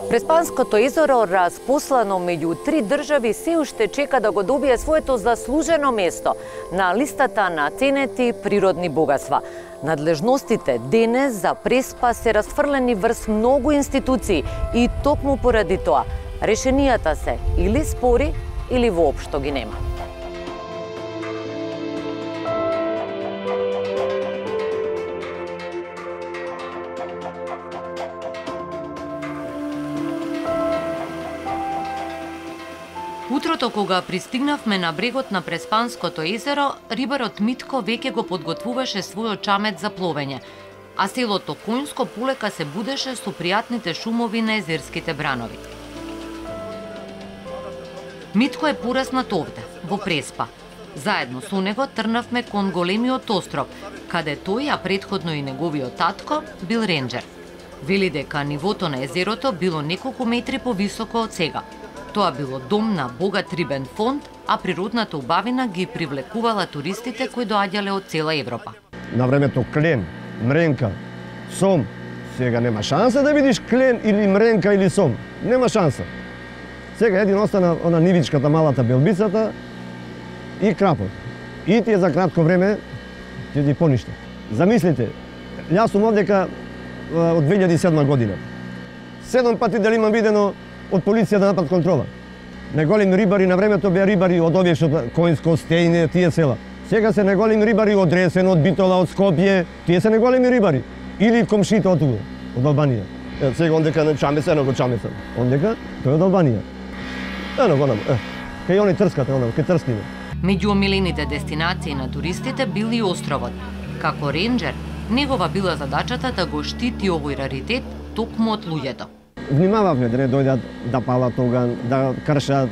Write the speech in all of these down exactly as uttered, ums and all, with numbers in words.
Преспанското езеро, распослано меѓу три држави, се уште чека да го добие своето заслужено место на листата на ценети природни богатства. Надлежностите денес за Преспа се расфрлени врз многу институции и токму поради тоа решенијата се или спори или воопшто ги нема. Утрото кога пристигнавме на брегот на Преспанското езеро, рибарот Митко веќе го подготвуваше својот чамет за пловење, а селото Коњско полека се будеше со пријатните шумови на езерските бранови. Митко е пораснат овде, во Преспа. Заедно со него трнавме кон големиот остров, каде тој, а претходно и неговиот татко, бил ренџер. Вели дека нивото на езерото било неколку метри повисоко од сега. Тоа било дом на богат рибен фонд, а природната убавина ги привлекувала туристите кои доаѓале од цела Европа. На времето клен, мренка, сом. Сега нема шанса да видиш клен или мренка или сом. Нема шанса. Сега един остана она нивичката, малата белбицата и крапот. И тие за кратко време ќе ги поништа. Замислите, јас сум овдека од две илјади и седма година. Седум пати дали имам видено од полиција да напад контрола. Неголеми рибари на времето беа рибари од овие што Коњско, Стејне, тие села. Сега се неголеми рибари од Ресен, од Битола, од Скопје. Тие се неголеми рибари. Или комшите од тука, од Албанија. Е, сега ондека на чамеса, едно го чамеса. Ондека тој од Албанија. Ено го нам, е. Кај они трскате, оно, кај трскиме. Меѓу омилените дестинации на туристите бил и островот. Како ренџер, негова била задачата да го штити овој раритет токму од луѓето. Внимававме да не дојдат да палат оган, да кршат.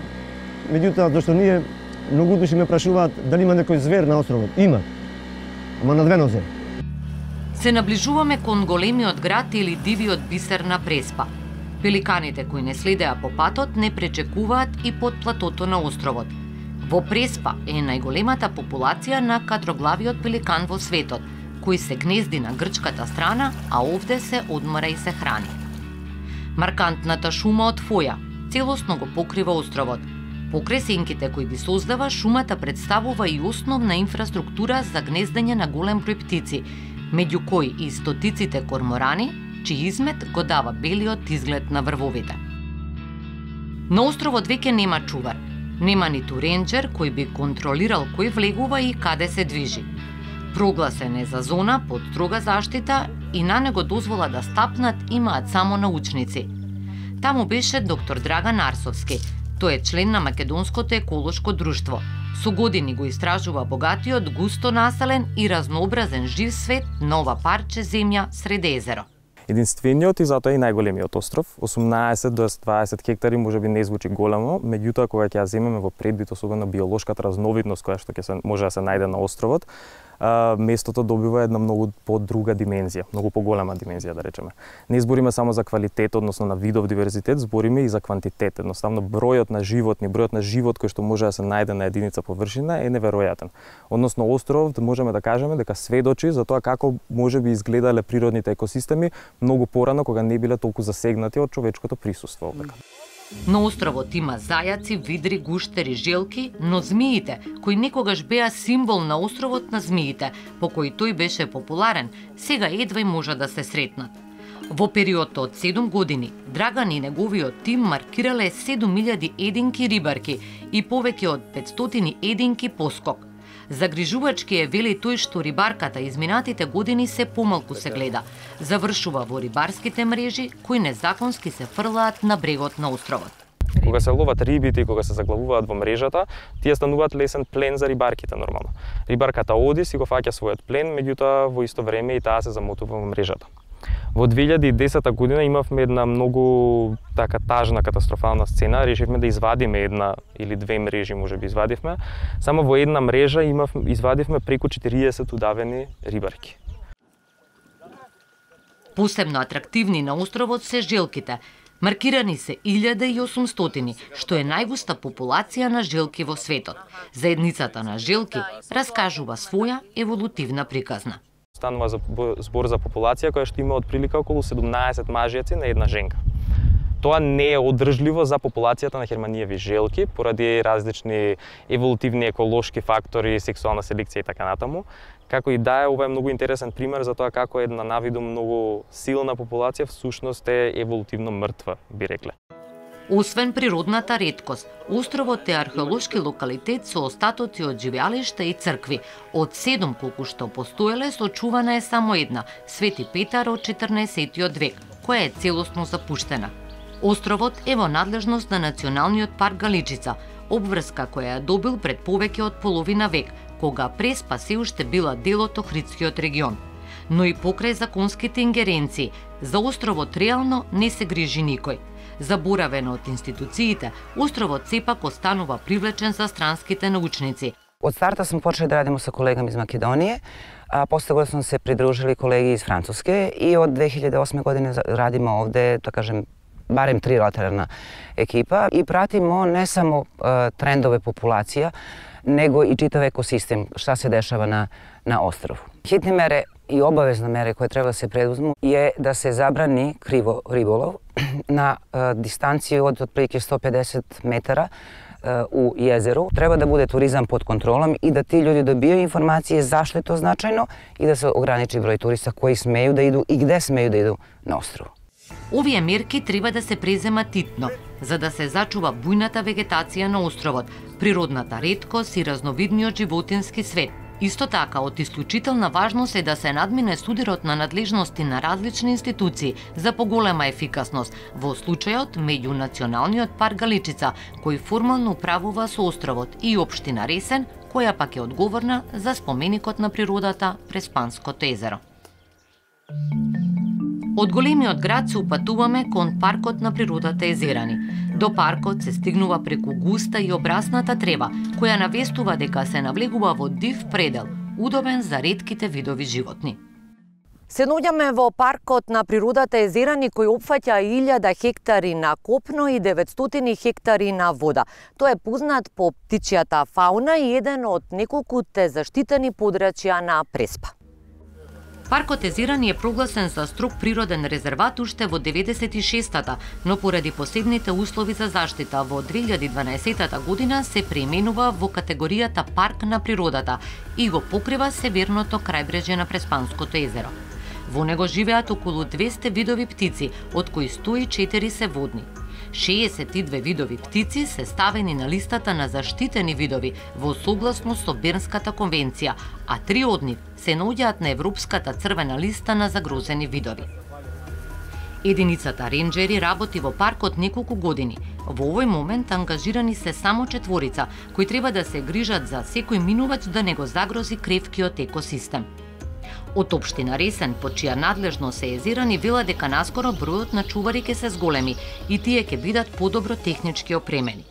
Меѓутоа, зашто ние многу души ме прашуваат дали има некој звер на островот. Има. Ама на две нозе. Се наближуваме кон големиот град или дивиот бисер на Преспа. Пеликаните кои не следеа по патот не пречекуваат и под платото на островот. Во Преспа е најголемата популација на катроглавиот пеликан во светот, кој се гнезди на грчката страна, а овде се одмора и се храни. Маркантната шума од фоја целосно го покрива островот. Покрај сенките кои ги создава, шумата представува и основна инфраструктура за гнездење на голем број птици, меѓу кои и стотиците корморани, чиј измет го дава белиот изглед на врвовите. На островот веќе нема чувар, нема ниту ренџер кој би контролирал кој влегува и каде се движи. Прогласен е за зона под строга заштита и на него дозвола да стапнат имаат само научници. Таму беше доктор Драган Арсовски. Тој е член на Македонското еколошко друштво. Со години го истражува богатиот, густо населен и разнообразен жив свет на ова парче земја сред езеро. Единствениот и затоа и најголемиот остров, осумнаесет до дваесет хектари, можеби не звучи големо, меѓутоа кога ќе ја земеме во предвид, особено биолошката разновидност која што ќе се може да се најде на островот, а, местото добива една многу подруга димензија, многу поголема димензија да речеме. Не збориме само за квалитет, односно на видов диверзитет, збориме и за квантитет. Едноставно бројот на животни, бројот на живот кој што може да се најде на единица површина е неверојатен. Односно островот можеме да кажеме дека сведочи за тоа како можеби изгледале природните екосистеми многу порано кога не биле толку засегнати од човечкото присуство овдека. На островот има зајаци, видри, гуштери, желки, но змиите, кои некогаш беа символ на островот на змиите, по кој тој беше популарен, сега едва и може да се сретнат. Во период од седум години, Драган и неговиот тим маркирале седум илјади единки рибарки и повеќе од петстотини единки поскок. Загрижувачки е, вели тој, што рибарката изминатите години се помалку се гледа. Завршува во рибарските мрежи кои незаконски се фрлаат на брегот на островот. Кога се ловат рибите и кога се заглавуваат во мрежата, тие стануваат лесен плен за рибарките нормално. Рибарката оди си го фаќа својот плен, меѓутоа во исто време и таа се замотува во мрежата. Во две илјади и десета година имавме една многу така тажна катастрофална сцена, решивме да извадиме една или две мрежи, можеби извадивме. Само во една мрежа имав извадивме преку четириесет удавени рибарки. Посебно атрактивни на островот се желките. Маркирани се илјада и осумстотини, што е најгуста популација на желки во светот. Заедницата на желки раскажува своја еволутивна приказна. Станува за збор за популација која што има од прилика околу седумнаесет мажјаци на една женка. Тоа не е одржливо за популацијата на херманиеви желки поради различни еволутивни еколошки фактори, сексуална селекција и така натаму. Како и да е, ова е многу интересен пример за тоа како една навидум многу силна популација всушност е еволутивно мртва, би рекле. Освен природната реткост, островот е археолошки локалитет со остатоци од живеалишта и цркви. Од седум колку што постоеле, сочувана е само една, Свети Петар од четрнаесеттиот век, која е целосно запуштена. Островот е во надлежност на Националниот парк Галичица, обврска која ја добил пред повеќе од половина век, кога Преспа се уште била дел од Охридскиот регион. Но и покрај законските ингеренции, за островот реално не се грижи никој. Заборавен од институциите, островот сепак останува привлечен за странските научници. Од старта сме почели да радимо со колегами из Македонија, а после тоа сме се придружили колеги из Француске и од две илјади и осма година радиме овде, да кажем, барем трилатерална екипа и пратимо не само е, трендове популација, него и читав екосистем, šta се дешава на, на остров. Хитни мере и обавезна мере која треба да се предузму е да се забрани криво риболов на е, дистанција од отприлike сто педесет метара е, у језеру. Треба да буде туризам под контролом и да ти луѓе добијаат информација зашто е тоа значајно и да се ограничи број туриста кои смеju да иду и где смеju да иду на остров. Овие мерки треба да се преземат итно, за да се зачува бујната вегетација на островот, природната реткост и разновидниот животински свет. Исто така, од исклучителна важност е да се надмине судирот на надлежности на различни институции за поголема ефикасност, во случајот меѓу Националниот парк Галичица, кој формално управува со островот, и општина Ресен, која пак е одговорна за споменикот на природата Преспанското езеро. Од големиот град се упатуваме кон паркот на природата Езерани. До паркот се стигнува преку густа и обрасната трева, која навестува дека се навлегува во див предел, удобен за ретките видови животни. Се наоѓаме во паркот на природата Езерани, кој опфаќа илјада хектари на копно и деветстотини хектари на вода. Тој е познат по птичјата фауна и еден од неколкуте заштитени подрачја на Преспа. Паркот Езерани е прогласен за строг природен резерват уште во деветдесет и шестата, но поради посебните услови за заштита во две илјади и дванаесеттата година се преименува во категоријата Парк на природата и го покрива северното крајбрежје на Преспанското езеро. Во него живеат околу двесте видови птици, од кои сто и четири се водни. шеесет и две видови птици се ставени на листата на заштитени видови во согласно со Бернската конвенција, а три од нив се наоѓаат на Европската црвена листа на загрозени видови. Единицата ренџери работи во паркот неколку години. Во овој момент ангажирани се само четворица, кои треба да се грижат за секој минувач да не го загрози кревкиот екосистем. Од општина Ресен, по чија надлежност се Езерани, вела дека наскоро бројот на чувари ќе се зголеми и тие ќе бидат подобро технички опремени.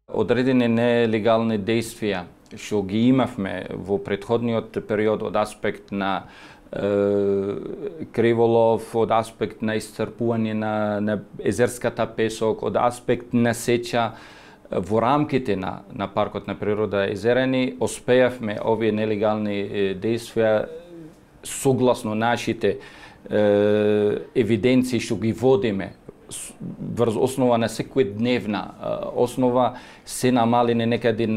Одредени нелегални действија што ги имавме во претходниот период од аспект на е, криволов, од аспект на исцрпување на, на езерската песок, од аспект на сеча во рамките на, на паркот на природа Езерани, успеавме овие нелегални действија согласно нашите е, евиденции што ги водиме врз основа на секојдневна основа се намалени некаде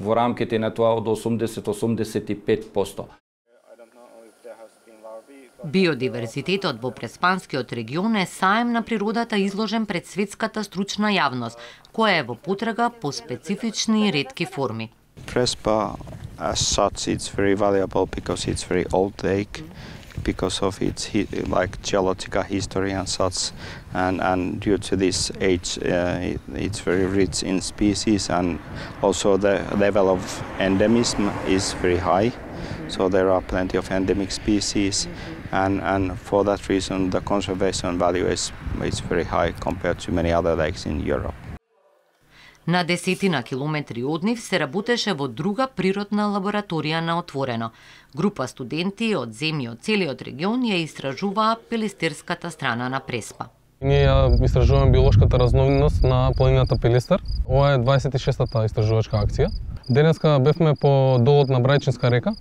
во рамките на тоа од осумдесет до осумдесет и пет проценти. Биодиверзитетот во Преспанскиот регион е саем на природата изложен пред светската стручна јавност, која е во потрага по специфични и ретки форми. Prespa, as such, it's very valuable because it's very old lake, because of its hi like geological history and such, and and due to this age, uh, it, it's very rich in species, and also the level of endemism is very high. So there are plenty of endemic species, and and for that reason, the conservation value is is very high compared to many other lakes in Europe. На десетина километри од нив се работеше во друга природна лабораторија на отворено. Група студенти од земји од целиот регион ја истражуваа пелистерската страна на Преспа. Ние ја истражуваме биолошката разновидност на планината Пелистер. Ова е дваесет и шестата истражувачка акција. Денеска бевме по долот на Брајчинска река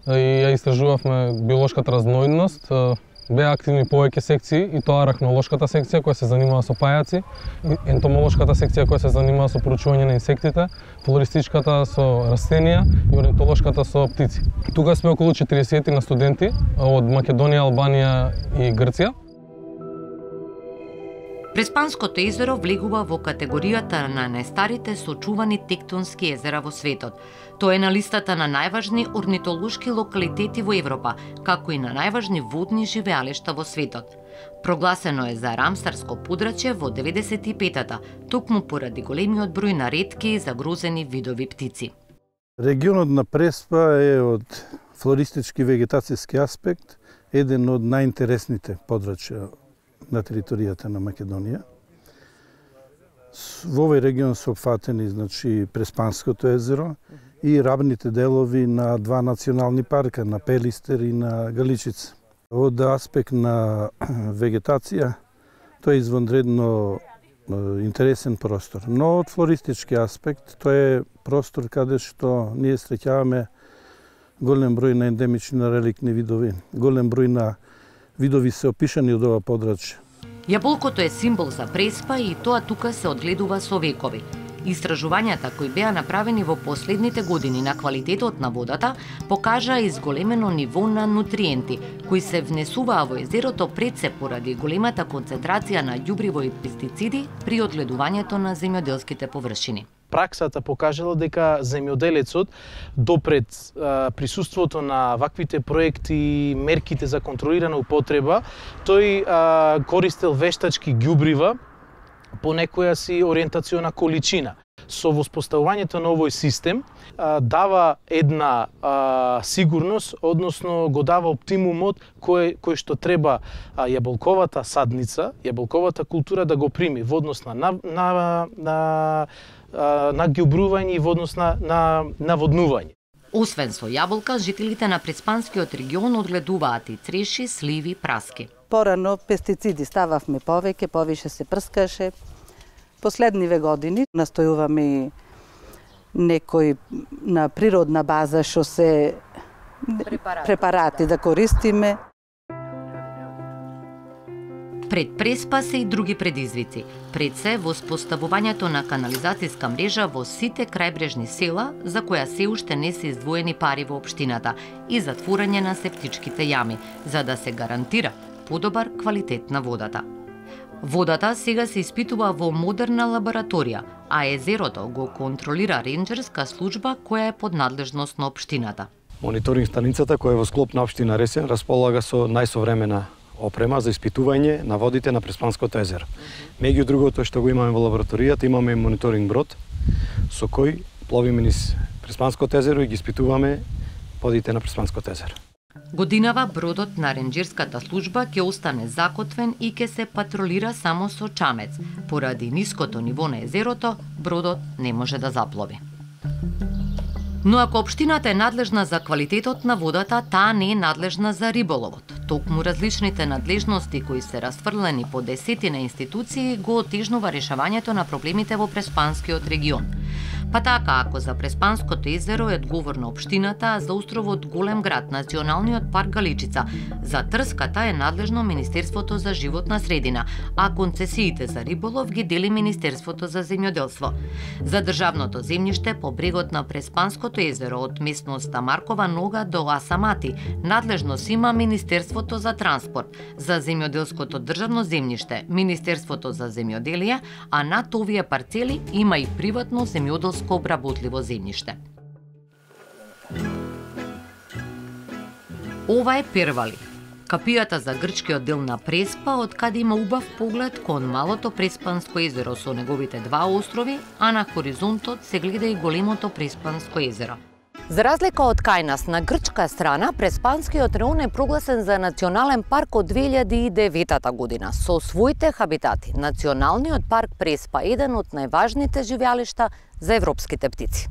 и ја истражувавме биолошката разновидност. Беа активни повеќе секции, и тоа арахнолошката секција која се занимава со пајаци, ентомолошката секција која се занимава со проучување на инсектите, флористичката со растенија и орнитолошката со птици. Тука сме околу четиридесет на студенти од Македонија, Албанија и Грција. Преспанското езеро влегува во категоријата на најстарите сочувани тектонски езера во светот. Тоа е на листата на најважни орнитолошки локалитети во Европа, како и на најважни водни живеалишта во светот. Прогласено е за рамсарско подрачје во деветдесет и петата, токму поради големиот број на ретки и загрозени видови птици. Регионот на Преспа е од флористички вегетацијски аспект еден од најинтересните подрачја на територијата на Македонија. Во овој регион се опфатени, значи, Преспанското езеро и рабните делови на два национални парка, на Пелистер и на Галичица. Од аспект на вегетација, тоа е извонредно интересен простор. Но од флористички аспект, тоа е простор каде што ние среќаваме голем број на ендемични на реликтни видови, голем број на видови се опишани од ова подрачје. Јаболкото е символ за Преспа и тоа тука се одгледува со векови. Истражувањата кои беа направени во последните години на квалитетот на водата покажаа изголемено ниво на нутриенти кои се внесуваа во езерото пред се поради големата концентрација на ѓубриво и пестициди при одгледувањето на земјоделските површини. Праксата покажала дека земјоделецот допред а, присуството на ваквите проекти и мерките за контролирана употреба, тој а, користел вештачки ѓубрива по некоја си ориентациона количина. Со воспоставувањето на овој систем а, дава една а, сигурност, односно го дава оптимумот кој, кој што треба а, јаболковата садница, јаболковата култура да го прими во однос на, на, на, на на ѓубрување и во однос на, на наводнување. Освен со јаболка, жителите на Преспанскиот регион одгледуваат и цреши, сливи, праски. Порано пестициди стававме повеќе, повише се прскаше. Последниве години настојуваме и некој на природна база што се препарати, препарати да користиме. Пред Преспа се и други предизвици. Пред се воспоставувањето на канализацијска мрежа во сите крајбрежни села, за која се уште не се издвоени пари во општината, и затворање на септичките јами, за да се гарантира подобар квалитет на водата. Водата сега се испитува во модерна лабораторија, а езерото го контролира ренџерска служба која е под надлежност на општината. Мониторинг станицата која е во склоп на општина Ресен располага со најсовремена опрема за испитување на водите на Преспанското езеро. Меѓу другото што го имаме во лабораторијата, имаме мониторинг брод со кој пловиме низ Преспанското езеро и ги испитуваме водите на Преспанското езеро. Годинава бродот на ренџерската служба ќе остане закотвен и ќе се патролира само со чамец. Поради ниското ниво на езерото, бродот не може да заплови. Но ако општината е надлежна за квалитетот на водата, таа не е надлежна за риболовот. Токму различните надлежности кои се расфрлени по десетина институции го отежнува решавањето на проблемите во Преспанскиот регион. Па така, ако за Преспанското езеро е одговорна општината, а за островот Голем град, Националниот парк Галичица, за трската е надлежно Министерството за животна средина, а концесиите за риболов ги дели Министерството за земјоделство. За државното земјиште по брегот на Преспанското езеро од местноста Маркова нога до Асамати, надлежност има Министерството за транспорт, за земјоделското државно земјиште, Министерството за земјоделие, а над овие парцели има и приватно земјоделско обработливо земјиште. Ова е Первали, капијата за грчкиот дел на Преспа, од каде има убав поглед кон малото Преспанско езеро со неговите два острови, а на хоризонтот се гледа и големото Преспанско езеро. За разлика од кај нас, на грчка страна, Преспанскиот район е прогласен за национален парк од две илјади и девета година. Со своите хабитати, Националниот парк Преспа е еден од најважните живеалишта за европските птици.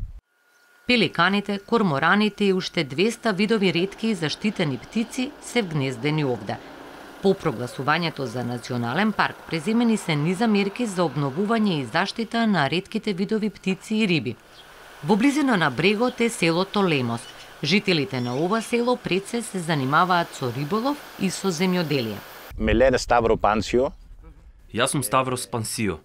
Пеликаните, кормораните и уште двеста видови ретки и заштитени птици се вгнездени овде. По прогласувањето за национален парк преземени се низа мерки за обновување и заштита на ретките видови птици и риби. Во близина на брегот е селото Лемос. Жителите на ова село пред се се занимаваат со риболов и со земјоделие. Меле Ставро Пансио. Јас сум Ставрос Пансио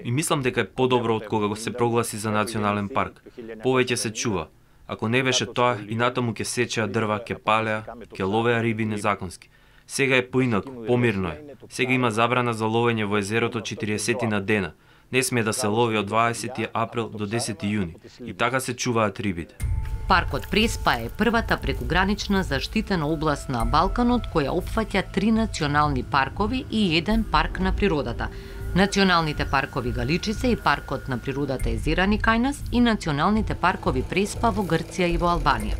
и мислам дека е подобро од кога го се прогласи за национален парк. Повеќе се чува. Ако не беше тоа, и натаму ќе сечеа дрва, ќе палеа, ќе ловеа риби незаконски. Сега е поинаку, помирно е. Сега има забрана за ловење во езерото четириесет на дена. Не смее да се лови од дваесети април до десети јуни. И така се чуваат рибите. Паркот Преспа е првата прекугранична заштитена област на Балканот која опфаќа три национални паркови и еден парк на природата. Националните паркови Галичице и паркот на природата Езерани кај нас и националните паркови Преспа во Грција и во Албанија.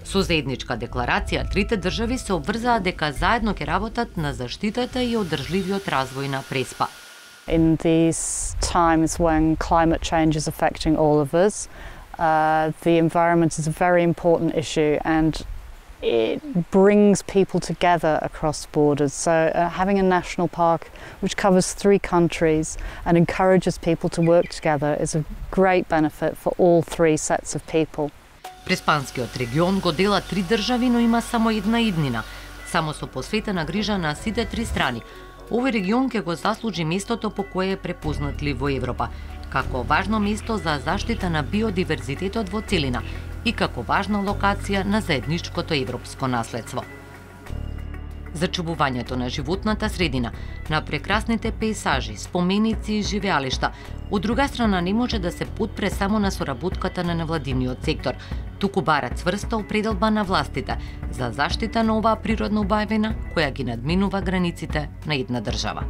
Со заедничка декларација, трите држави се обврзаа дека заедно ќе работат на заштитата и одржливиот развој на Преспа. In these times when climate change is affecting all of us, uh, the environment is a very important issue and it brings people together across borders. So uh, having a national park which covers three countries and encourages people to work together is a great benefit for all three sets of people. Преспанскиот регион го дела три држави, но има само една иднина, само со посветена грижа на сите три страни. Овој регион ќе го заслужи местото по кое е препознатлив во Европа, како важно место за заштита на биодиверзитетот во целина и како важна локација на заедничкото европско наследство. Зачувувањето на животната средина, на прекрасните пејсажи, споменици и живеалишта, од друга страна не може да се потпре само на соработката на невладиниот сектор, туку бара цврста определба на властите за заштита на оваа природна убавина која ги надминува границите на една држава.